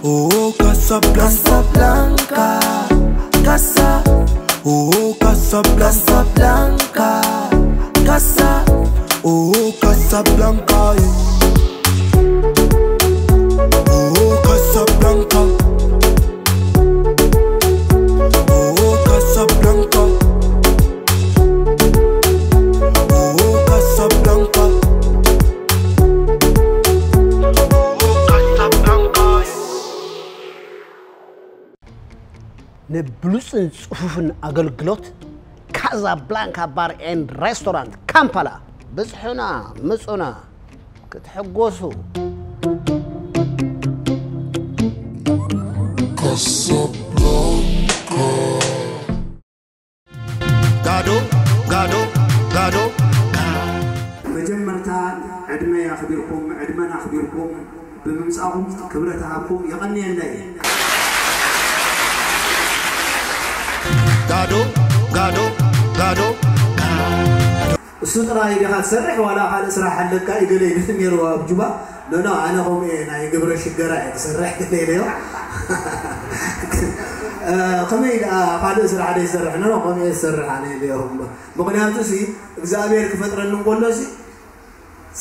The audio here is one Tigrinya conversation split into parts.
Oh Casablanca, Casablanca, Casa. Oh Casablanca, Casablanca, Casa. Oh Casablanca, eh. Oh Casablanca. Oh Casablanca. Oh Casablanca. Oh Casablanca. ንብሉጽን ጽፉፍን ኣገልግሎት ካዛብላንካ ባር ኤንድ ሬስቶራንት ካምፓላ ብጽሑና፣ ምጹና ክትሕጎሱ። ጋዶ ጋዶ ጋዶ። መጀመርታ ዕድመ ኣኽቢርኩም፣ ዕድመን ኣኽቢርኩም ብምምጻእኩም ክብረት እሃብኩም። የቐንየለይ። ጋዶ ጋዶ ጋዶ። እሱ ጥራይ ዲኻ ትሰርሕ ዋላ ካልእ ስራሕ ኣለካ? ይገለ ይብል ነይሩ ኣብ ጁባ። ኖ ኖ፣ ኣነ ከምኡ እየ፣ ናይ ግብረ ሽገራ እየ ዝሰርሕ ኢለዮ። እ፣ ከመይ ደኣ ካልእ ስራሕ ዶ ይሰርሕ? ኖ ኖ፣ ከምኡ እየ ዝሰርሕ ኣነ ኢለዮ። ምኽንያቱ ሲ እግዚኣብሔር ክፈጥረኒ እንከሎ ሲ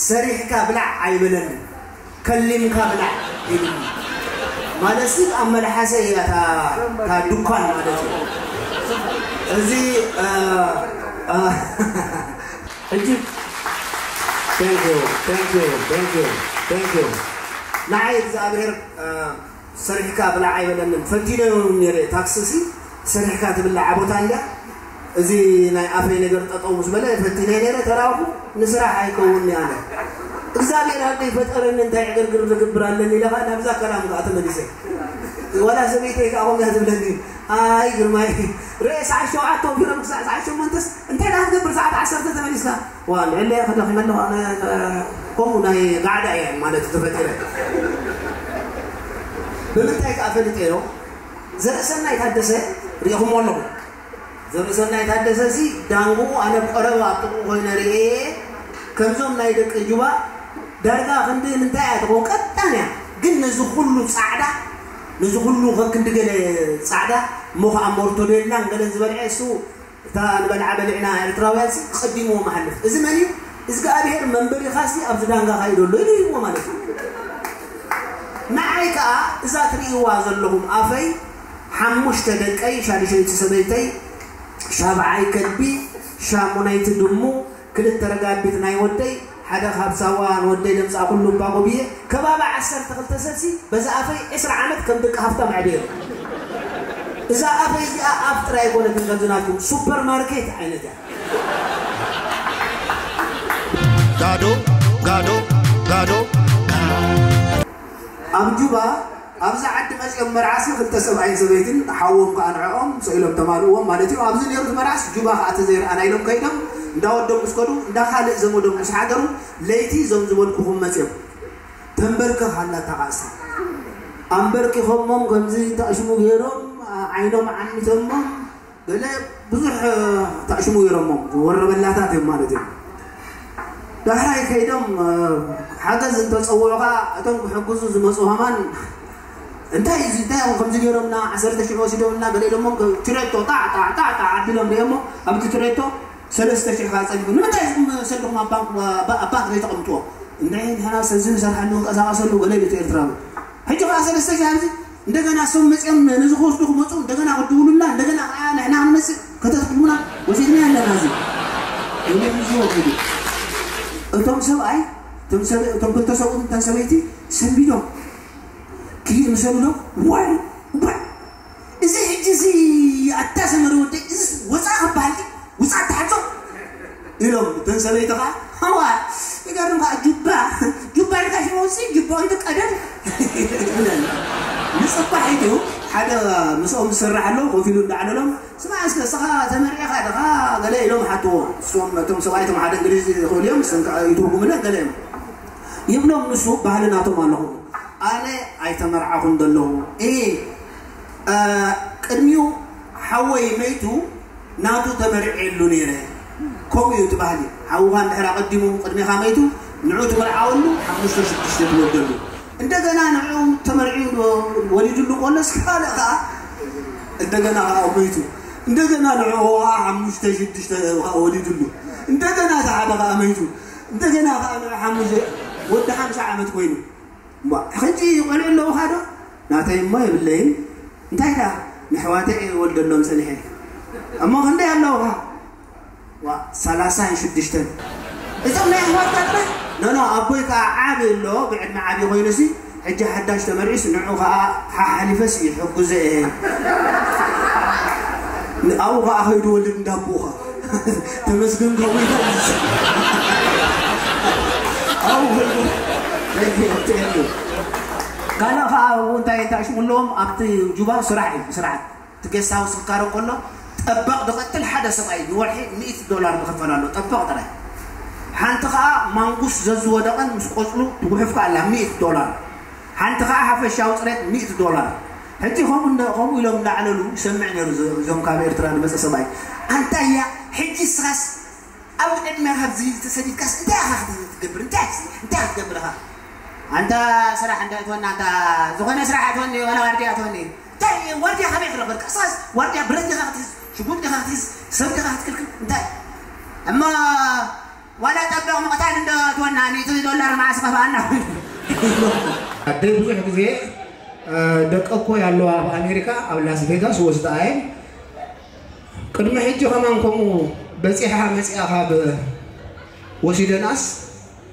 ሰሪሕካ ብላዕ ኣይበለንን፣ ከሊምካ ብላዕ ኢሉኒ። ማለት ሲ ኣብ መልሓሰ እያ እታ፣ እታ ድኳን ማለት እዩ። እዚ፣ እ፣ እ፣ ሕጂ thank you, thank you, thank you, thank you። ንዓይ እግዚኣብሔር፣ እ፣ ሰሪሕካ ብላዕ ኣይበለንን። ፈቲነዮ እውን ነይረ፣ ታክሲ ሲ ሰሪሕካ ትብላዕ ቦታ እንድያ። እዚ ናይ ኣፈይ ነገር ጠጠው ምስ በለ ፈቲነ ነይረ፣ ተራኹ ንስራሕ ኣይከውን ኣለ። እግዚኣብሔር ኣብ ዘይፈጠረኒ እንታይ ዕግርግር ዝግብር ኣለኒ ኢለ ኸዓ ናብዛ ከላም ከኣ ተመሊሰ። ዋላ ሰበይተይ ከኣ ከምያ ትብለኒ፣ ኣይ ግርማይ፣ ርእ ሰዓት ሸውዓተ ወፊሮም ክሳዕ ሰዓት ሸሞንተስ እንታይ ደኣ ክትገብር ሰዓት ዓሰርተ ተመሊስካ? ዋ፣ ልዕለየ ክደኽመ ኣለኹ ኣነ፣ ከምኡ ናይ ጋዕዳ እየ ማለት ተፈጢረ። ብምንታይ ከኣ ፈሊጠዮ? ዘርእሰናይ ታደሰ ርኢኹሞ ኣለኹም። ዘርእሰናይ ታደሰ ሲ ዳንግኡ ኣነ ብቐረባ ኣብ ጥቕኡ ኮይነ ርእየ፣ ከምዞም ናይ ደቂ ጁባ ዳርጋ ክንዲ ምንታይ እያ ትኸውን? ቀጣን እያ። ግን ነዚ ኩሉ ጻዕዳ፣ ነዚ ኩሉ ከክንዲ ገለ ጻዕዳ፣ እሞ ኸዓ ሞርቶዴላን ገለን ዝበልዐ እሱ እታ ንበልዓ በሊዕና ኤርትራውያን ሲ ቀዲምዎም ኣሕልፍ። እዚ መን እዩ? እግዚኣብሔር መንበሪኻ ሲ ኣብዚ ዳንጋኻ እዩ ዘሎ ኢሉ ሂብዎ ማለት እዩ። ንዓይ ከኣ እዛ ትርእይዋ ዘለኹም ኣፈይ ሓሙሽተ ደቀይ፣ ሻድሸይቲ ሰበይተይ፣ ሻብዓይ ከልቢ፣ ሻሙነይቲ ድሙ፣ ክልተ ረጋቢት ናይ ወደይ፣ ሓደ ካብ ሳዋ ንወደይ ዘምጻእኩሉ እባ ጎብየ፣ ከባቢ ዓሰርተ ክልተ ሰብ ሲ በዛ ኣፈይ ዕስራ ዓመት ከም ደቂ ሃፍታም ኣዕብየ። እዛ ኣፈይ እዚኣ ኣፍ ጥራይ ኣይኮነትን ከምዚ ናትኩም ሱፐር ማርኬት ዓይነት እያ። ጋዶ ጋዶ ጋዶ። ኣብ ጁባ ኣብዚ ዓዲ መጺኦም መርዓሲ ክልተ ሰብኣይን ሰበይትን ሓዎም ከኣ ንዕኦም ስኢሎም ተማልእዎም ማለት እዩ። ኣብዚ ነይሩ እቲ መርዓስ ጁባ ከኣ ተዘይረኣና ኢሎም ከይዶም እንዳወዶም ምስ ከዱ እንዳ ካልእ ዘመዶም ምስ ሓደሩ ለይቲ እዞም ዝበልኩኹም መጺኦም። ተንበርከኽ ኣላ እታ ቃልሲ። ኣንበርኪኾሞም ከምዚ ተኣሽሙ ገይሮም ዓይኖም ዓሚቶሞም ገለ ብዙሕ ተኣሽሙ ገይሮሞም ወረበላታት እዮም ማለት እዩ። ዳሕራይ ከይዶም ሓገዝ እንተፀውዑ ከዓ እቶም ክሕግዙ ዝመፁ ከማን እንታይ እዚ እንታይ እዮም ከምዚ ገይሮምና ዓሰርተ ሽሕ ወሲዶምና ገለ ኢሎሞም ችሬቶ ጣዕ ጣዕ ጣዕ ጣዕ ኣቢሎም ሪኦሞ ኣብቲ ችሬቶ ሰለስተ ሽሕ ከዓ ፀዲፉ ንምንታይ ኢኹም ሰድኹም ኣብ ባንክ ኣብ ባንክ ዘይተቐምጥዎ እንድዒ ንሕና ሰዚ ንሰርሓሉ ንቀሳቐሰሉ ገለ ኢሉ እቲ ኤርትራዊ ሕጂ ከዓ ሰለስተ ሽሕ ኣብዚ እንደገና እሶም መፅኦም ነዚ ክወስዱ ክመፁ እንደገና ክድውሉና እንደገና ከዓ ንሕና ክንመፅእ ከተትክሉና ወሲድና ኣለና እዚ ኢሎም ይዝወ ከይዱ እቶም ሰብኣይ እቶም ሰብ- እቶም ክልተ ሰብኡት እተን ሰበይቲ ሰንቢዶም ክይድ ምሰሉ ዶ ዋይ ዋይ እዚ ሕጂ እዚ ኣታ ሰመረ ወደይ እዚ ወፃእ ክበሃል ድዩ ውፃእ ተሓቶ ኢሎም እተን ሰበይቲ ከዓ ሃዋ ይገርም ከዓ ጁባ ጁባ ኢልካ ሽመውፂ ጁባ ኢሉ ቀደም ንፅባሕ ኢሉ ሓደ ምስኦም ዝሰርሕ ኣሎ ኮፍ ኢሉ እንዳዓለሎም ስማ እስከ እስኻ ተመሪዕኻ ድኻ ገለ ኢሎም ሓትዎ እሶም እቶም ሰብኣይ እቶም ሓደ እንግሊዝ ይኽእሉ እዮም እሶም ከዓ ይትርጉምለን ገለ እዮም ይብሎም ንሱ ባህሊ ናቶም ኣለኹ ኣነ ኣይተመርዓኹን ዘለኹ እ ቅድሚኡ ሓወይ መይቱ ናቱ ተመርዕየሉ ነይረ። ከምኡ እዩ እቲ ባህሊ። ሓውኻ እንድሕር ኣቐዲሙ ቅድሜኻ መይቱ ንዑ ትምርዓወሉ ሓሙሽተ ሽዱሽተ ትወልደሉ። እንደገና ንዑ ተመርዕዩ ወለስ ካልእ ከዓ እንደገና ከዓ ሞይቱ። እንደገና ንዕኡ ከዓ ሓሙሽተ ሽዱሽተ ከዓ ወሊዱሉ። እንደገና እቲ ሓደ ከዓ ሞይቱ። እንደገና ከዓ ንዑ ሓሙሽተ ወዲ ሓምሳ ዓመት ኮይኑ። እሞ ሕጂ ቆልዑ ኣለውኻ ዶ? ናተይ እሞ የብለይን። እንታይ ደኣ ንሕዋተይ እየ ወልደሎም ሰኒሐ። እሞ ክንደይ ኣለውኻ? ዋ ሰላሳን ሽዱሽተን። እዞም ናይ ኣሕዋትካ ጥራሕ? ኖኖ ኣቦይ ከዓ ዓቢ ኣሎ ብዕድመ ዓቢ ኮይኑሲ ሕጂ ሓዳሽ ተመርዒስ ንዑ ከዓ ሓሓሊፈስ ይሕግዞ እየ። ኣብኡ ከዓ ከይዱ ወልድ እንዳቦኻ ተመስገን ከምኡ ይፈልስ። ኣብኡ ከይዱ ካልእ ከዓ ኣብኡ እንታይ እንታይ ሽሙ ኣለዎም ኣብቲ ጁባ ስራሕ እዩ ስራሕ። እቲ ጌስት ሃውስ ክካረ ከሎ ጠበቕ ዝቐትል ሓደ ሰብኣይ ንወርሒ ሚእቲ ዶላር ዝኽፈል ኣሎ። ጠበቕ ጥራይ። ሓንቲ ከዓ ማንጉስ ዘዝወደቐን ምስ ቆፅሉ ትጉሕፍ ከኣ ኣላ ሚእቲ ዶላር። ሓንቲ ከዓ ሓፈሻዊ ፅሬት ሚእቲ ዶላር። ሕጂ ከምኡ እንደ- ከምኡ ኢሎም እንዳዕለሉ ይሰምዕ ነይሩ። እዞ- እዞም ካብ ኤርትራ ዝመፀ ሰብኣይ ኣንታይ እያ ሕጂ ስኻስ ኣብ ዕድመ ካብዚ ተሰዲድካስ እንታይ ኢኻ ክትገብር እንታይ እንታይ ክትገብር ኢኻ ኣንታ ስራሕ እንታይ ትወና ኣንታ ዝኾነ ስራሕ ኣትወኒ ዋላ ዋርድያ ኣትወኒ እንታይ ዋርድያ ካበይ ክረኽበልካ ሳስ ዋርድያ ብረት ዲኻ ክትሕዝ ሽጉጥ ዲኻ ክትሕዝ ሰብ ዲኻ ክትክልክል እንታይ እሞ ዋላ ጠበቕ ምቕታል እንዶ ትወና ሚእቲ ዶላር መዓስ ኸፍኣና ኣደ ብዙሕ ግዜ ደቀ እኮ ያለው ኣብ ኣሜሪካ ኣብ ላስ ቬጋስ ወስዳ ኣየን ቅድሚ ሕጂ ከማን ከምኡ በፂሓ መፂኣ ካብ ወሲደናስ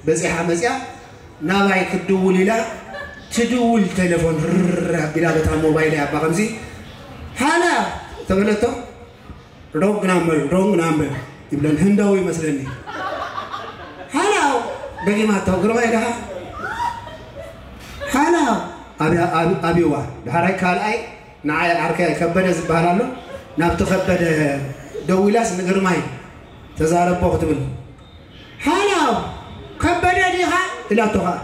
በፂሓ መፂኣ ናባይ ክትድውል ኢላ ትድውል ቴሌፎን ርር ኣቢላ በታ ሞባይል ኣባ ከምዚ ሃላ ተበለቶ ሮንግ ናምበር ሮንግ ናምበር ይብለን ህንዳዊ ይመስለኒ ሃላ ደጊማቶ ግርማይ ደሃ ሃላ ኣብያ ኣብይዋ ድሓራይ ካልኣይ ንዓይ ዓርከይ ከበደ ዝበሃል ኣሎ ናብቲ ከበደ ደዊላስ ንግርማይ ተዛረቦ ክትብል ሃላው ከበደ ዲኻ ኢላቶ ኸዓ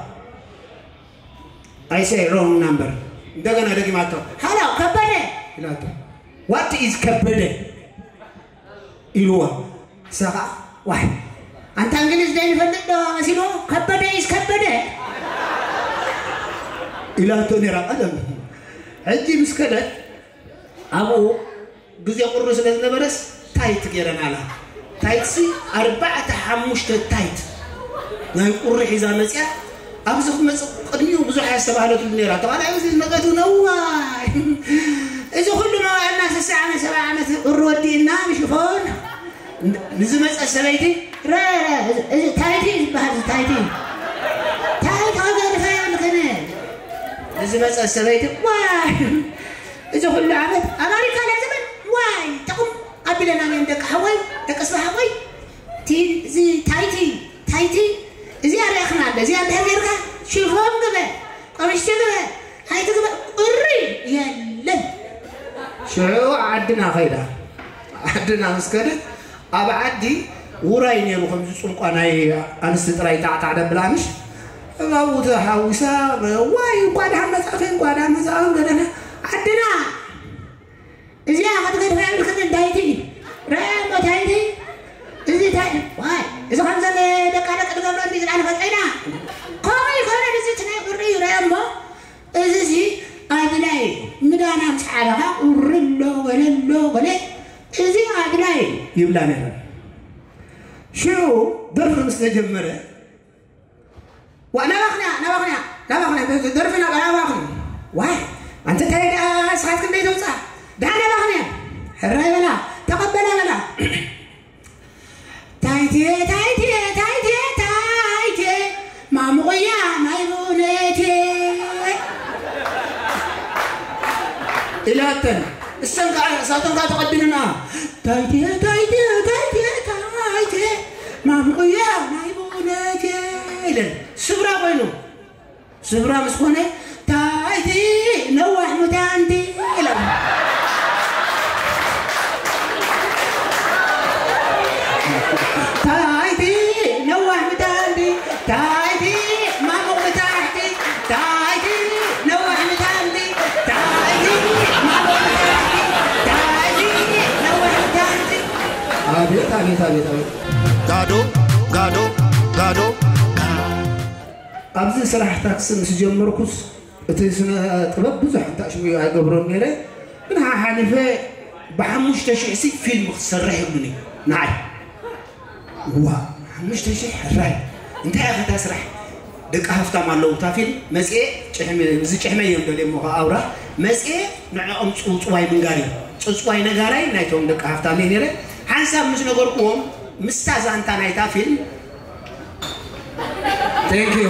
I say wrong number እንደገና ደጊማቶ ሃላው ከበደ ኢላቶ what is ከበደ ኢልዋ እሳ ኸዓ ዋይ ኣንታ እንግሊዝ ዘይንፈልጥ ዶ መሲልዎ ከበደ is ከበደ ኢላቶ ነይራ ቀደም ሕጂ ምስ ከደት ኣብኡ ግዜ ቁሪ ስለ ዝነበረስ ታይት ገይረናላ ታይትሲ ኣርባዕተ ሓሙሽተ ታይት ናይ ቁሪ ሒዛ መፅያ ኣብዚ ክመፅእ ቅድሚኡ ብዙሕ ኣየስተባህለትሉ ነይራ ተባላ እዚ ዝመፀት እውን እዋይ እዚ ኩሉ መዋእልና ስሳ ዓመት ሰባ ዓመት ቁሪ ወዲእና ብሽፎን ንዝመፀት ሰበይቲ ረ ታይቲ ዝበሃል ታይቲ ታይቲ ከገርፋ የብልክን ንዝመፀት ሰበይቲ ዋይ እዚ ኩሉ ዓመት ኣማሪካ ናይ ዘመን ዋይ ጥቕም ኣቢለና እዮም ደቂ ሓወይ ደቂ ስባ ሓወይ እቲ እዚ ታይቲ ታይቲ እዚኣ ሪኣኽና ኣለ እዚኣ እንድሕር ጌርካ ሽፎን ግበ ቀምሽቲ ግበ ኣይትግበ እሪ የለን ሽዑ ዓድና ኸይዳ ዓድና ምስ ከደት ኣብ ዓዲ ውራይ ነይሩ ከምዚ ፅንቋ ናይ ኣንስቲ ጥራይ ጣዕጣዕ ደብል ኣምሽ እባቡ ተሓዊሳ ዋይ እንኳ ደሓን መፃእኺ እንኳ ደሓን መፃእኺ ገደና ዓድና እዚኣ ክትገድፋ የብልክን እንታይ እቲ ረሞ እንታይ እቲ እዚ እንታይ ዋይ እዚ ከምዘን ደቃ ደቂ ዝገብሮ እንዲ ዝለዓለ ፈፀይና ከምኡ ይኮነን እዚ እቲ ናይ ቁሪ እዩ ረሞ እዚ እዚ ኣድላይ ምዳና ምስ ሓለኻ ቁሪ ኣሎ ገለ ኣሎ ገለ እዚ ኣድላይ ይብላ ነይረን ሽዑ ደርፊ ምስ ተጀመረ ዋ ናባኽንያ ናባኽንያ ናባኽንያ ደርፊ ናባኽንያ ዋይ ኣንተ እንታይ ደኣ ስኻት ክንደይ ተውፅኣ ደሓን ናባኽንያ ሕራይ በላ ተቐበላ በላ ታይቴ ታይቴ ታይቴ ታይቴ ማሙቕያ ናይ ቡነቴ ኢላተን እሰን ከዓ እሳተን ከዓ ተቐቢልና ታይቴ ታይቴ ታይቴ ታይቴ ማሙቕያ ናይ ቡነቴ ኢለን ስብራ ኮይኑ ስብራ ምስ ኮነ ታይቲ ነዋሕ ሙታንቲ ኢሎም ታይቲ ነዋሕ ሙታንቲ ታይቲ ማሙቕ ሙታሕቲ ታይቲ ነዋሕ ሙታንቲ ታይቲ ማሙቕ ሙታሕቲ ታይቲ ነዋሕ ሙታንቲ ኣቤት ኣቤት ኣቤት ኣቤት ጋዶ ጋዶ ጋዶ ኣብዚ ስራሕ ታክሲ ምስ ጀመርኩስ እቲ ስነ ጥበብ ብዙሕ እንታሽሙ ኣይገብሮን ነይረ፣ ግን ሓሓሊፈ ብሓሙሽተ ሽሕ ሲ ፊልም ክትሰርሕ ይብሉኒ ንዓይ። ዋ፣ ሓሙሽተ ሽሕ ሕራይ፣ እንታይ ኢኻ እታ ስራሕ? ደቂ ሃፍታም ኣለዉ እታ ፊልም መፅኤ፣ ጭሕሚ፣ እዚ ጭሕመይ እዮም ደልየሞ ከዓ ኣውራ መፅኤ፣ ንዕኦም ፅውፅዋይ ምንጋር እዩ። ፅውፅዋይ ነጋራይ ናይቶም ደቂ ሃፍታም እየ ነይረ። ሓንሳብ ምስ ነገርኩዎም ምስታ ዛንታ ናይታ ፊልም፣ ቴንክ ዩ።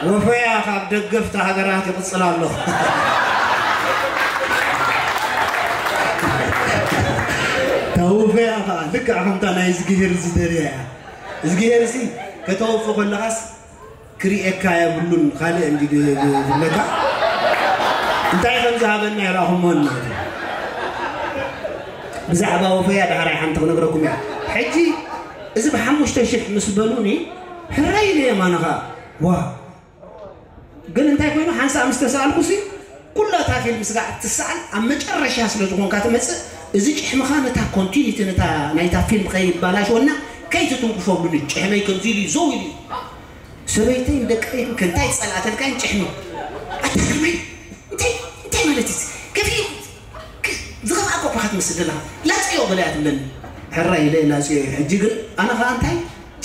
ወፈያ ካብ ደገፍቲ ሃገራት ይቕጽል ኣሎ። ተውፈያ ኸዓ ልክዕ ከምታ ናይ እዝግሄር ዝደልያ እያ። እዝግሄር ሲ ከተወፊ ከለኻስ ክርእየካ የብሉን፣ ካልእ እንዲ ዝብለካ እንታይ ከም ዝሃበና ይረኣኹሞ እናቱ። ብዛዕባ ወፈያ ዳሕራይ ሓንቲ ክነግረኩም እያ። ሕጂ እዚ ብሓሙሽተ ሽሕ ምስ በሉኒ ሕራይ ኢለ የማንኻ ዋ። ግን እንታይ ኮይኑ ሓንሳእ ምስ ተሰኣልኩ ሲ ኩላ እታ ፊልም ስጋዕ እትሰኣል ኣብ መጨረሻ ስለ ዝኾንካ ትመጽእ። እዚ ጭሕምኻ ነታ ኮንቲኒቲ ነታ ናይታ ፊልም ከይባላሽወና ከይትትንክፎ ብሉኒ። ጭሕመይ ከምዚ ኢሉ እዩ ዘው ኢሉ እዩ። ሰበይተይ ንደቀይን ከንታይ ጸላእተልካይን ጭሕሚ ኣታ ግርመይ እንታይ እንታይ ማለት እዩ? ከፊ ዝኸፍኣ እኮ እኳ ክትመስል ዘለኻ ላጽዮ ገለ እያ ትብለኒ። ሕራይ ኢለ ላጽዮ እዩ። ሕጂ ግን ኣነ ኸኣ እንታይ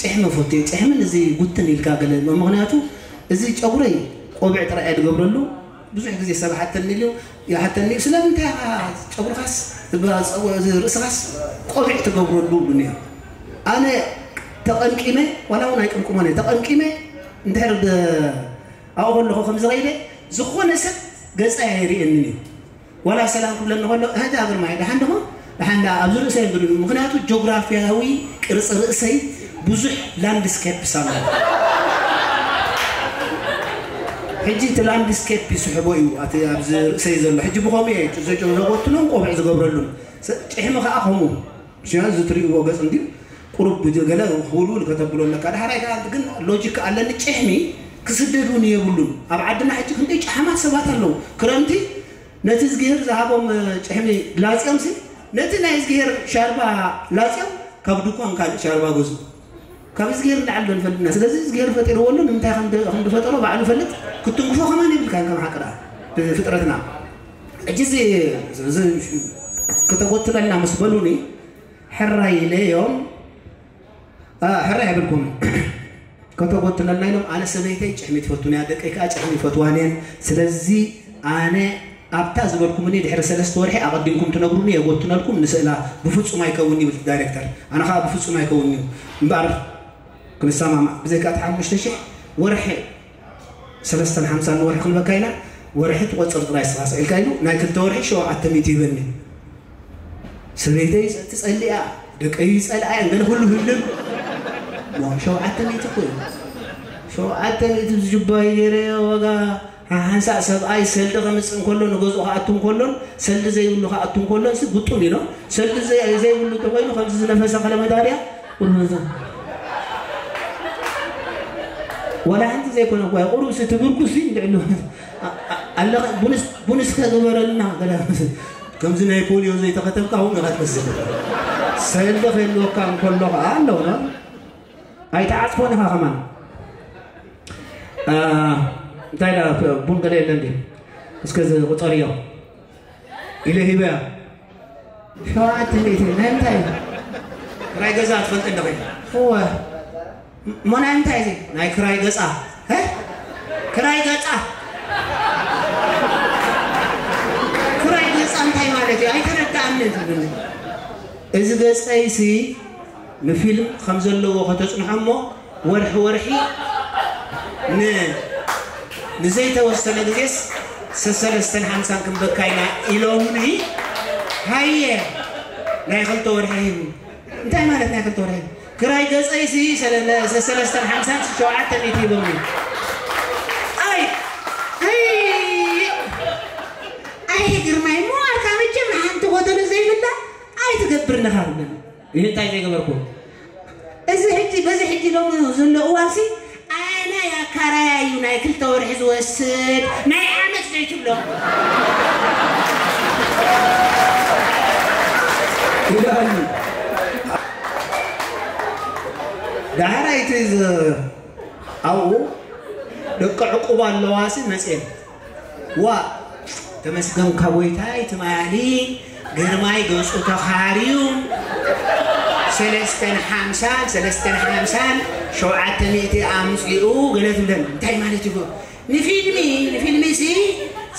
ጭሕሚ ፈትዮ ጭሕምን እዚ ጉትን ኢልካ ገለ ምኽንያቱ እዚ ጨጉረይ ቆቢዕ ጥራይ እየ ዝገብረሉ። ብዙሕ ግዜ ሰብ ሓተኒ ኢሉ ይሓተኒ እዩ ስለምንታይ ኢኻ ጨጉርኻስ ርእስኻስ ቆቢዕ ትገብረሉ ብሉኒ እዮም። ኣነ ተቐምቂመ ዋላ እውን ኣይቅምቅሞን እየ ተቐምቂመ እንድሕር ኣብኡ ከለኹ ከም ዝኸይደ ዝኾነ ሰብ ገፀይ ኣይርእየንን እዩ። ዋላ ሰላም ክብለኒ ከሎ እህዳ ግርማይ ደሓን ደሞ ደሓን ዳ ኣብዚ ርእሰይ እንድሉ ምክንያቱ ጆግራፊያዊ ቅርፂ ርእሰይ ብዙሕ ላንድስኬፕስ ኣሎ። ሕጂ እቲ ላንድስኬፕ ይስሕቦ እዩ ኣቲ ኣብዚ ርእሰይ ዘሎ ሕጂ ብኸምኡ እየ ዘጎትኖም ቆብዕ ዝገብረሉን ጭሕሚ ከዓ ከምኡ ሽያ እዚ ትርእይዎ ገፅ እንዲ ቁሩብ ገለ ህውልውል ከተብሎ ኣለካ። ዳሕራይ ከዓ ግን ሎጂክ ኣለኒ ጭሕሚ ክስደዱን የብሉን። ኣብ ዓድና ሕጂ ክንደይ ጨሓማት ሰባት ኣለዉ። ክረምቲ ነቲ እዝግሄር ዝሃቦም ጭሕሚ ላፅዮም ሲ ነቲ ናይ እዝግሄር ሻርባ ላፅዮም ካብ ድኳን ካልእ ሻርባ ገዝኡ። ካብ እዝግሄር ንላዕሊ ዶ ንፈልጥ ኢና? ስለዚ እዝግሄር ፈጢርዎ ኣሎ ንምንታይ ከም ድ- ከም ዝፈጠሮ ባዕሉ ይፈልጥ። ክትንክፎ ከማን የብልካን ከም ሓቂ ደኣ ብፍጥረትና። ሕጂ እዚ እዚ ክተጎትለልና ምስ በሉኒ ሕራይ ኢለ እዮም። ኣ፣ ሕራይ ኣይብልኩምን። ከተጎትለልና ኢሎም ኣነ ሰበይተይ ጭሕሚ ትፈቱን እያ ደቀይ ከዓ ጭሕሚ ይፈትዋን እየን። ስለዚ ኣነ ኣብታ ዝበልኩምኒ ድሕሪ ሰለስተ ወርሒ ኣቐዲምኩም ትነግሩኒ የጎትነልኩም ንስእላ። ብፍፁም ኣይከውን ይብል ዳይሬክተር። ኣነ ከዓ ብፍፁም ኣይከውን እዩ እምበኣር ክንሰማማዕ ብዘይካ እቲ ሓሙሽተ ሽሕ ወርሒ ሰለስተን ሓምሳን ንወርሒ ክንበካ ኢና። ወርሒ ትቆፅር ጥራይ ስኻ ስዒልካ ኢሉ ናይ ክልተ ወርሒ ሸውዓተ ሚእቲ ይበኒ። ሰበይተይ ትፀልእ እያ ደቀይ ይፀልኣ እየን ገለ ኩሉ ህልም ሞ ሸውዓተ ሚእቲ እኮ እዩ። ሸውዓተ ሚእቲ ዝጅባይ ገይረ ዋጋ ሓንሳእ ሰብኣይ ሰልዲ ከምፅእ እንከሎ ንገዝኡ ክኣቱ እንከሎን ሰልዲ ዘይብሉ ክኣቱ እንከሎን ሲ ጉጡም ኢሎ ሰልዲ ዘይ- ዘይብሉ እንተኮይኑ ከምዚ ዝነፈሰ ከለመዳርያ ቁርብዛ ዋላ ሓንቲ ዘይኮነ እኳ ቁሩብ ሲ ትብርኩ ሲ እንድዕሉ ኣለኸ ቡንስ ቡንስ ከግበረልና ገለ ከምዚ ናይ ፖሊዮ ዘይተኸተብካ እውን ኢኻ ትመስል ሰልዲ ከይልወካ እንከሎ ከዓ ኣለውና ኣይተዓፅፎን ኢኻ ከማን እንታይ ዳ ቡን ገለ የለ እንዲ እስከ ቁፀርዮ ኢለ ሂበያ ሸውዓተ ሚእቲ ናይ እንታይ ክራይ ገዛ ትፈልጥ እንደ ኮይና እወ ሞ ናይ እንታይ እዚ ናይ ክራይ ገፃ እ? ክራይ ገፃ ክራይ ገፃ እንታይ ማለት እዩ ኣይተረዳኣኒ ትብል እዚ ገፀይሲ ንፊልም ከም ዘለዎ ከተፅንሖ እሞ ወርሒ ወርሒ ን ንዘይተወሰነ ግዜስ ሰሰለስተን ሓምሳን ክንበካ ኢና ኢሎምኒ ሃየ ናይ ክልተ ወርሒ ሂቡ እንታይ ማለት ናይ ክልተ ወርሒ ክራይ ገፀይሲ ሰሰለስተን ሓምሳን ሸውዓተ ሚእቲ ሂቦምኒ ኣይ ኣይ ኣይ ግርማይ እሞ ኣርካ መቸም ሓንቲ ጎደሎ ዘይብላ ኣይትገብር ነኻ ብለኒ ይህ እንታይ ዘይገበርኩ እዚ ሕጂ በዚ ሕጂ ሎም ዘሎ እዋንሲ ኣነ ያካራያ እዩ ናይ ክልተ ወርሒ ዝወስድ ናይ ዓመት ዘይትብሎ ይልኣሉ ዳሕራይ እቲ ዝ- ኣብኡ ደቂ ዕቁብ ኣለዋሲ መፅየን ዋ ተመስገንካ ጎይታይ ትማሊ ግርማይ ገጹ ተኻርዩ ሰለስተን ሓምሳን ሰለስተን ሓምሳን ሸውዓተ ሚእቲ ኣምጺኡ ገለ ትብለን እንታይ ማለት እዩ? ንፊልሚ ንፊልሚ ሲ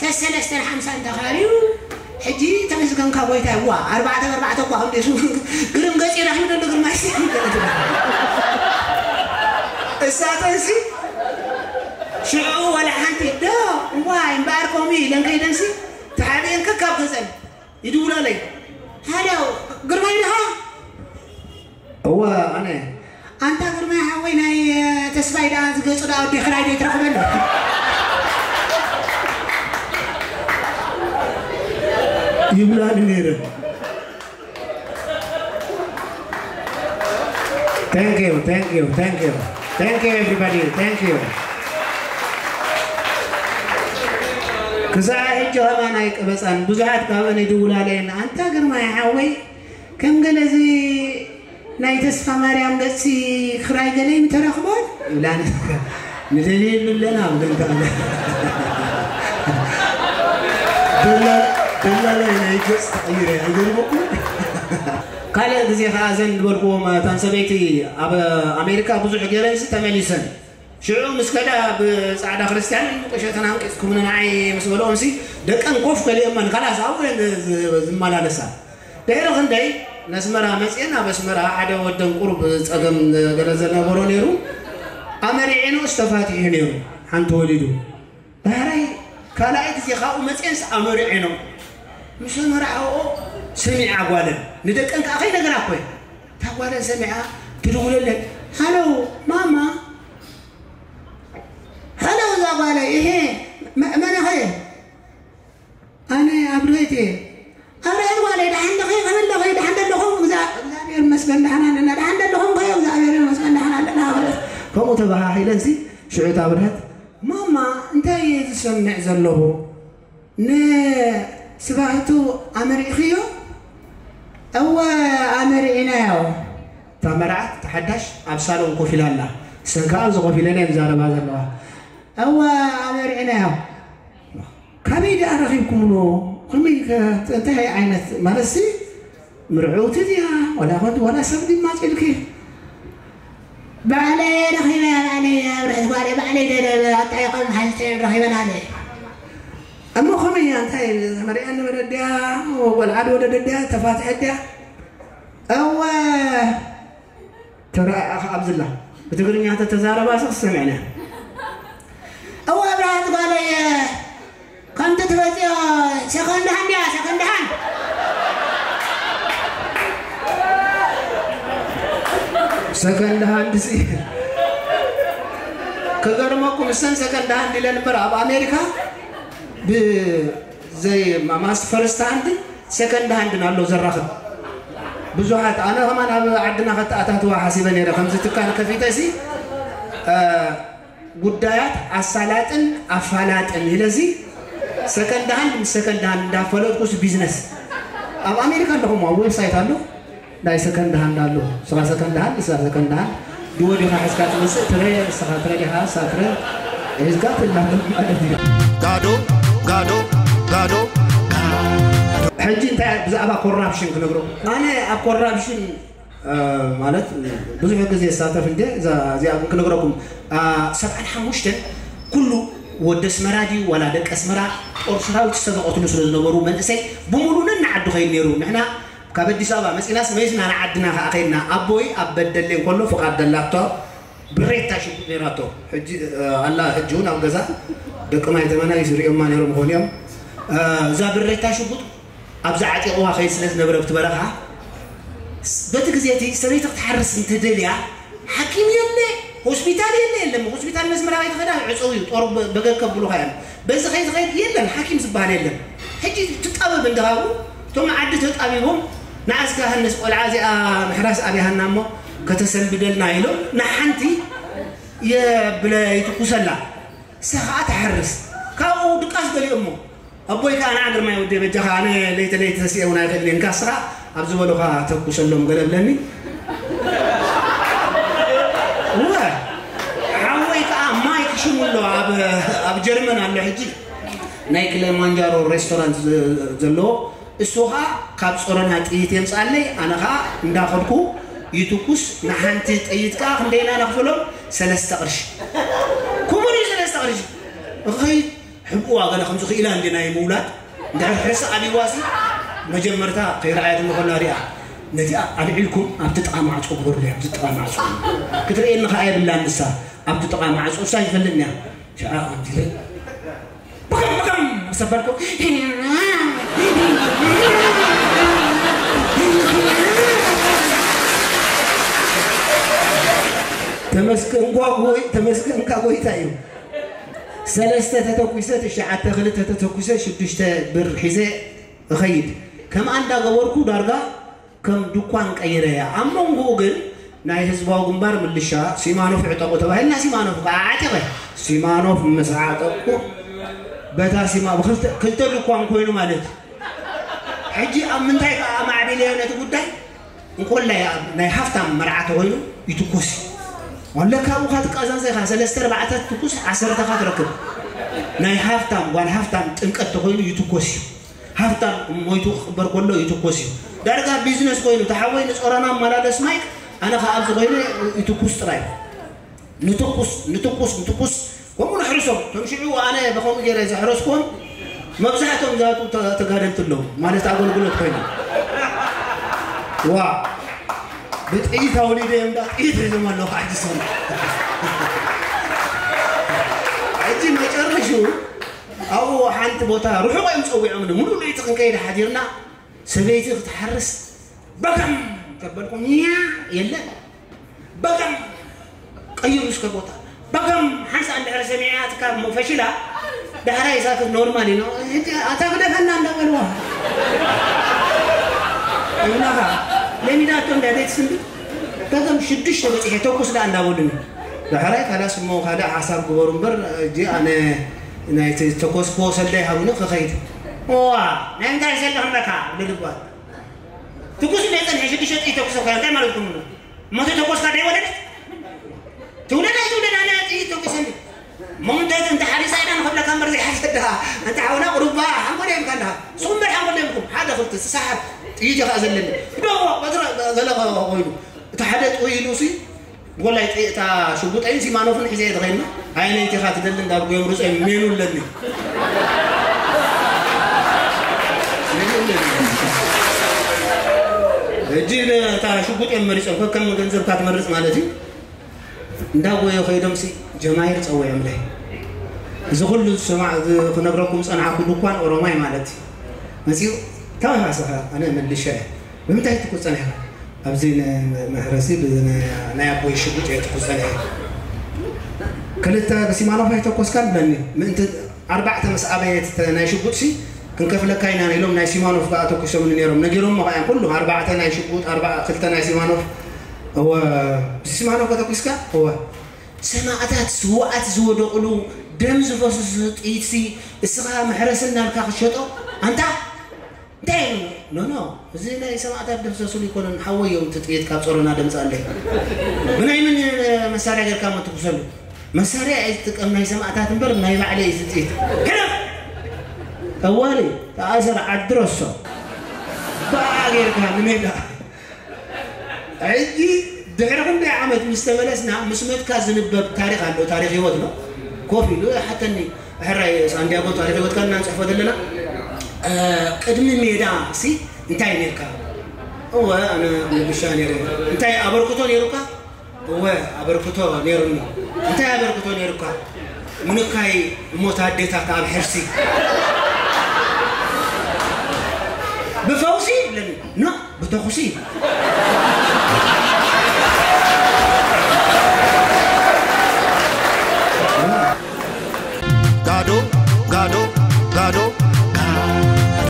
ሰሰለስተን ሓምሳን ተኻርዩ ሕጂ ተመስገንካ ጎይታይ ዋ ኣርባዕተ ኣርባዕተ እኳ ክንደሱ ግርም ገጺ ረኺቡ ደሎ ግርማይ ሲ እሳተንሲ ሽዑ ወላ ሓንቲ ዶ እዋይ እምበኣር ከምኡ ኢለን ከይደንሲ ተሓቢኤን ከካብ ገዘን ይድውላለይ ሃሎ ግርማይ ድኻ እወ ኣነ ኣንታ ግርማይ ሓወይ ናይ ተስፋይ ደኣ ዝገጹ ደኣ ወዲ ክራይ ዶ ይትረኽበሉ ይብላኒ ነይረ Thank you, thank you, thank you. Thank you, everybody. Thank you. ክሳዕ ሕጂ ኸማን ኣይቀበፃን ብዙሓት ካብአን ይድውላለየን ኣንታ ግርማይ ሓወይ ከም ገለዚ ናይ ተስፋ ማርያም ገፂ ክራይ ገለ ይምተረኽቦን ይብላን ንደልየሉ ኣለና ብለን ከኣለ ደላላይ ናይ ገፅ ተቐይረ ኣይገርመኩም ካልእ ግዜ ከዓ ዘን ዝበልክዎም እተን ሰበይቲ ኣብ ኣሜሪካ ብዙሕ ገይረንሲ ተመሊሰን ሽዑ ምስ ከዳ ብፃዕዳ ክርስትያን ቁሸተን ኣንቂፅኩምኒ ንዓይ ምስ በልኦምሲ ደቀን ኮፍ ከሊኦመን ካላስ ኣብኡ ዝመላለሳ ድሕሪ ክንደይ ነስመራ መፅኤን ኣብ ኣስመራ ሓደ ወደን ቁሩብ ፀገም ገለ ዘነበሮ ነይሩ ኣመሪዒኑ ዝተፋትሑ ነይሩ ሓንቲ ወሊዱ ዳሕራይ ካልኣይ ግዜ ካብኡ መፅኤንስ ኣመሪዒኖም ምስ ኣመርዓኦ ሰሚዓ ጓለን ንደቀን ከዓ ከይነገራ እኮ እታ ጓለን ሰሚዓ ትድውለለን ሃሎ ማማ ሃሎ እዛ ጓለይ እሄ መነኸ ኣነ ኣብ ርህት እየ ኣብ ርህት ጓለይ ደሓን ደኸ ከመለኸ ደሓን ደለኹም እግዚኣብሔር መስገን ደሓን ኣለና ደሓን ደለኹም ከ እግዚኣብሔር መስገን ደሓን ኣለና ከምኡ ተባሃሂለን ሲ ሽዑ እታ ብርህት ማማ እንታይ እየ ዝሰምዕ ዘለኹ ንስባህቱ ኣመሪእኽዮ እወ ኣመሪእናዮ እታ መርዓት ተሓዳሽ ኣብ ሳሎን ኮፍ ኢላ ኣላ ሰን ከዓ ኣብዚ ኮፍ ኢለን እየን ዛረባ ዘለዋ እወ ኣመሪእናዮ ካበይ ደኣ ረኺብኩምዎ ከመይ እንታይ ዓይነት ማለትሲ ምርዕውቲ ድያ ዋላ ኮንት ዋላ ሰብ ድማፂልኪ ባዕለይ ረኺበያ ባዕለይ ኣብርሕት ጓለይ ባዕለይ ደለበ ኣጣይቆም ሓዝተን ረኺበን ኣለ እሞ ከመይ እያ እንታይ መሪኣኒ ወደድያ ቆልዓ ወደደድያ ተፋትሐ ድያ እወ ተረኣኻ ኣብዝላ ብትግርኛ ተተዛረባ ሲ ክሰምዕና እወ ኣብርሃት ጓለይ ከምቲ ትበፅዮ ሰከንድ ሃንድ እያ ሰከንድ ሃንድ ሰከንድ ሃንድ ሲ ከገርመኩም እሰን ሰከንድ ሃንድ ኢለን እምበር ኣብ ኣሜሪካ ብዘይ ማስ ፈርስት ሃንድ ሰከንድ ሃንድን ኣሎ ዘራኽብ ብዙሓት ኣነ ከማን ኣብ ዓድና ከተኣታትዋ ሓሲበ ነይረ ከምዚ ትካል ከፊተ ሲ ጉዳያት ኣሳላጥን ኣፋላጥን ኢለዚ ሰከንድ ሃንድ ምስ ሰከንድ ሃንድ እንዳፈለጥኩስ ቢዝነስ ኣብ ኣሜሪካ ኣለኹም ኣብ ዌብሳይት ኣሎ ናይ ሰከንድ ሃንድ ኣሎ ስኻ ሰከንድ ሃንድ ስኻ ሰከንድ ሃንድ ድወ ዲኻ ሕዝካ ትመፅእ ትረ ስኻ ትረ ዲኻ ሳ ትረ ሒዝካ ትላለ ማለት እዩ ጋዶ ጋዶ ጋዶ ሕጂ እንታይ ብዛዕባ ኮራፕሽን ክነግረኩም ኣነ ኣብ ኮራፕሽን ማለት ብዙሕ ግዜ ዝሳተፍ እንደ እዚኣ ክነግረኩም ሰብዓን ሓሙሽተን ኩሉ ወደ ኣስመራ ድዩ ዋላ ደቂ ኣስመራ ጦር ሰራዊት ዝተዘቐትሉ ስለ ዝነበሩ መንእሰይ ብሙሉ ነናዓዱ ከይድ ነይሩ ንሕና ካብ ኣዲስ ኣበባ መፂናስ መይዝና ንዓድና ከዓ ከይድና ኣቦይ ኣብ በደሌ እንከሎ ፍቓድ ደላቶ ብሬታ ሽጉጥ ነይራቶ ሕጂ ኣላ ሕጂ እውን ኣብ ገዛ ደቂ ማይ ተመናይ ዝሪኦማ ነይሮም ይኾኑ እዮም እዛ ብሬታ ሽጉጥ ኣብዚ ዓጢቕዋ ከይድ ስለ ዝነበረ ኣብቲ በረኻ በቲ ግዜ እቲ ሰበይቲ ክትሓርስ እንተደልያ ሓኪም የለ ሆስፒታል የለ የለም ሆስፒታል መስመራ ከይትኸዳ ዕፀው እዩ ጦር በገከብሉኻ እዮም በዚ ከይትኸይድ የለን ሓኪም ዝበሃል የለን ሕጂ ትጣበብ እንድሃቡ እቶም ዓዲ ተጣቢቦም ንኣስካ ሃነስ ቆልዓ እዚኣ ምሕራስ ኣብያሃና እሞ ከተሰንብደልና ኢሎም ንሓንቲ የብለ ይትኩሰላ ንሳ ከዓ ትሓርስ ካብኡ ድቃስ ገሊኦሞ ኣቦይ ከዓ ንዓ ግርማይ ወደይ በጃኻ ኣነ ለይተ ለይተ ተሲኤ እውን ኣይኽእልን እየ ንካ ንስኻ ኣብ ዝበሉኻ ተኩሰሎም ገለ ብለኒ እወ ሓወይ ከዓ ማይክ ሽሙ ኣሎ ኣብ ጀርመን ኣሎ ሕጂ ናይ ክሊማንጃሮ ሬስቶራንት ዘ- ዘለዎ፣ እሱ ኸዓ ካብ ጾሮና ጥይት የምጽኣለይ። ኣነ ኸዓ እንዳኸድኩ ይትኩስ። ንሓንቲ ጥይት ከዓ ክንደይና ነኽፍሎም? ሰለስተ ቅርሺ። ክቡር እዩ፣ ሰለስተ ቅርሺ። እኸይድ፣ ሕብእዋ ገለ ከምዚ ክኢላ እንዲ ናይ ምውላድ። እንድሕር ሕርሲ ኣቢዋሲ፣ መጀመርታ ከይረኣየት እንከላ ሪኣ፣ ነቲኣ ኣልዒልኩም ኣብቲ ጥቓ ማዕጾ ግበሩለይ፣ ኣብቲ ጥቓ ማዕጾ። ክትርእየኒ ኸዓ የብላን ንሳ፣ ኣብቲ ጥቓ ማዕጾ እሳ ይፈልጥን እያ። ሸዓ ከምዚ ኢለ፣ ብከም ብከም ሰበርኩ። ተመስገን ጓ ጎይ-፣ ተመስገን ካ ጎይታ እዩ። ሰለስተ ተተኩሰ ትሽዓተ፣ ክልተ ተተኩሰ ሽዱሽተ ብር ሒዘ እኸይድ። ከምኣ እንዳገበርኩ ዳርጋ ከም ድኳን ቀይረያ። ኣብ መንጎኡ ግን ናይ ህዝባዊ ግንባር ምልሻ ሲማኖፍ ዕጠቑ ተባሂልና፣ ሲማኖፍ ከዓ ዓጢቐ። ሲማኖፍ ምስ ዓጠቕኩ፣ በታ ሲማ-፣ ብክልተ፣ ክልተ ድኳን ኮይኑ ማለት እዩ። ሕጂ ኣብ ምንታይ ከዓ ማዕቢለዮ ነቲ ጉዳይ? እንኮላይ ኣብ ናይ ሃፍታም መርዓ ተኮይኑ ይትኮስ እዩ። ወለካ ኣብኡ ካ ትቀዛዘ ኢኻ፣ ሰለስተ ኣርባዕተ ትኩስ፣ ዓሰርተ ካ ትረክብ። ናይ ሃፍታም፣ ጓል ሃፍታም ጥምቀት ተኮይኑ ይትኮስ እዩ። ሃፍታም ሞይቱ ክቕበር ከሎ ይትኮስ እዩ። ዳርጋ ቢዝነስ ኮይኑ፣ እቲ ሓወይ ንጾሮና ኣመላለስ ማይክ፣ ኣነ ከኣ ኣብዚ ኮይነ ይትኩስ ጥራይ። ንትኩስ፣ ንትኩስ፣ ንትኩስ። ከምኡ ነሕርሶም። እቶም ሽዑ ኣነ ብኸምኡ ገይረ ዘሕረስኩዎም፣ መብዛሕትኦም ዝኣትዉ ተ-፣ ተጋደልቲ ኣለዉ። ማለት ኣገልግሎት ኮይኖም። ዋ፣ ብጥይት ኣውሊደ እዮም፣ እንዳ ጥይት ሒዞም ኣለዉ፣ ክዓጅሶም። ሕጂ መጨረሽኡ ኣብኡ ሓንቲ ቦታ ርሑቕ እዮም ጸዊዖምኒ። ሙሉእ ለይቲ ክንከይድ ሓዲርና፣ ሰበይቲ ክትሓርስ በገም ተበልኩም፣ ያ የለን። በገም ቀይሩ እስከ ቦታ። በገም ሓንሳ እንድሕር ሰሚዐ ኣትካ እሞ ፈሽላ፣ ዳሕራይ ሳክት ኖርማል እዩ። ሕጂ ኣታ ግደፈና እንዳበልዋ። እብላኻ፣ ለሚዳቶ እንዳ ቤት ስንዲ። በገም ሽዱሽተ በጺሐ ተኩስ ደኣ እንዳበሉኒ። ዳሕራይ ካላስ እሞ ካልእ ሓሳብ ግበሩ እምበር፣ ሕጂ ኣነ ናይቲ ዝተኮስክዎ ሰልዳይ ሃቡኒ ክኸይድ። እዋ፣ ናይ እንታይ ሰልዲ ክንበካ? ልልጓል። ትኩስ እንደ ጸንሐ ሽዱሽተ ጥይት ተኩሰ እኮ፣ እንታይ ማለትኩም ነው? እሞ ተተኮስካ ደይ ወለደት? ትውለድ ኣይትውለድ፣ ኣነ ጥይት ተኩሰኒ። እሞ እንተ፣ እንተ ሓሪሳ ኢዳ ንኸብለካ እምበር ዘይሓሰዳ። እንተ ሓውና ቁሩባ ሓንጎል የምካ ኣለኻ። ንስኹም እምበር ሓንጎል የምኩም። ሓደ ክልተ ዝሰሓብ ጥይት እዩ ከኣ ዘለኒ። ደዎ፣ በትረ፣ ገለ ኮይኑ። እቲ ሓደ ጥውይ ኢሉ ሲ፣ ጎላይ ጥይ-፣ እታ ሽጉጠይን ሲማኖፍን ሒዘ እየ ተኸይድና። ኣየነይቲ ኢኻ ትደሊ እንዳብኩ እዮም ርጾም ሜኑ ኣለኒ። ሜኑ ኣለኒ። ሕጂ እታ ሽጉጥ እዮም መሪጾም። ከከም ገንዘብካ ትመርጽ ማለት እዩ። እንዳጎየ ከይዶም ሲ ጀማሂር ጸዊዖምለይ። እዚ ኩሉ ዝሰማዕ፣ ዝ-፣ ክነግረኩም ጸናሕኩ ድኳን ኦሮማይ ማለት እዩ። መጺኡ፣ "እንታይ ኢኻ ንስኻ?" ኣነ መልሸ፣ "ብምንታይ ትኩስ ጸኒሕካ?" ኣብዚ ን-፣ መሕረሲ ብ-፣ ን-፣ ናይ ኣቦይ ሽጉጥ እየ ትኩስ ጸኒሐ። ክልተ ብሲማኖፍ ኣይተኮስካን ብለኒ። ምእንቲ ኣርባዕተ ምስ ኣበየት ተ-፣ ናይ ሽጉጥሲ ክንከፍለካ ኢና ኢሎም ናይ ሲማኖፍ ከኣ ተኩሶምኒ ነይሮም። ነጊሮሞ ከኣ እዮም ኩሉ ኣርባዕተ ናይ ሽጉጥ፣ ኣርባ-፣ ክልተ ናይ ሲማኖፍ። እወ፣ ብሲማኖፍ ከተኩስካ? እወ። ሰማእታት ስውኣት ዝወደቕሉ ደም ዝፈስሱ ጥይትሲ እስኻ መሕረሲ እናልካ ክትሸጦ? ኣንታ እንታይ? ኖ፣ ኖ፣ እዚ ናይ ሰማእታት ደምሰሱሉ ኣይኮነን፣ ሓወይ እዮም እቲ ጥይት ካብ ጾሮና ደምጻለይ። ብናይ ምን መሳርያ ጌርካ እሞ ትኩሰሉ? መሳርያ ኣይትጥቀም ናይ ሰማእታት እምበር ናይ ባዕለይ እዩ እዚ ጥይት። ሕለፍ! ጠዋሊ፣ ተኣሰር፣ ዓዲ ረሶ። ብኣ ጌርካ ንሜዳ። ሕጂ ድሕሪ ክንደይ ዓመት ምስ ተመለስና፣ ምስ መትካ ዝንበብ ታሪኽ ኣሎ፣ ታሪኽ ህይወት ነው። ኮፍ ኢሉ ሓተኒ፣ "ሕራይ ሳንዲያጎ፣ ታሪኽ ህይወትካ እና ንጽሕፎ ዘለና፣ እ፣ ቅድሚ ሜዳ ሲ እንታይ ኔርካ?" "እወ፣ ኣነ ምልሻ ኔረ." "እንታይ ኣበርክቶ ኔሩካ?" "እወ፣ ኣበርክቶ ኔሩኒ." "እንታይ ኣበርክቶ ኔሩካ?" "ምንካይ እሞት ኣዴታት ኣብ ሕርሲ ብፈውሲ" ይብለኒ። "ኖ፣ ብተኹሲ!"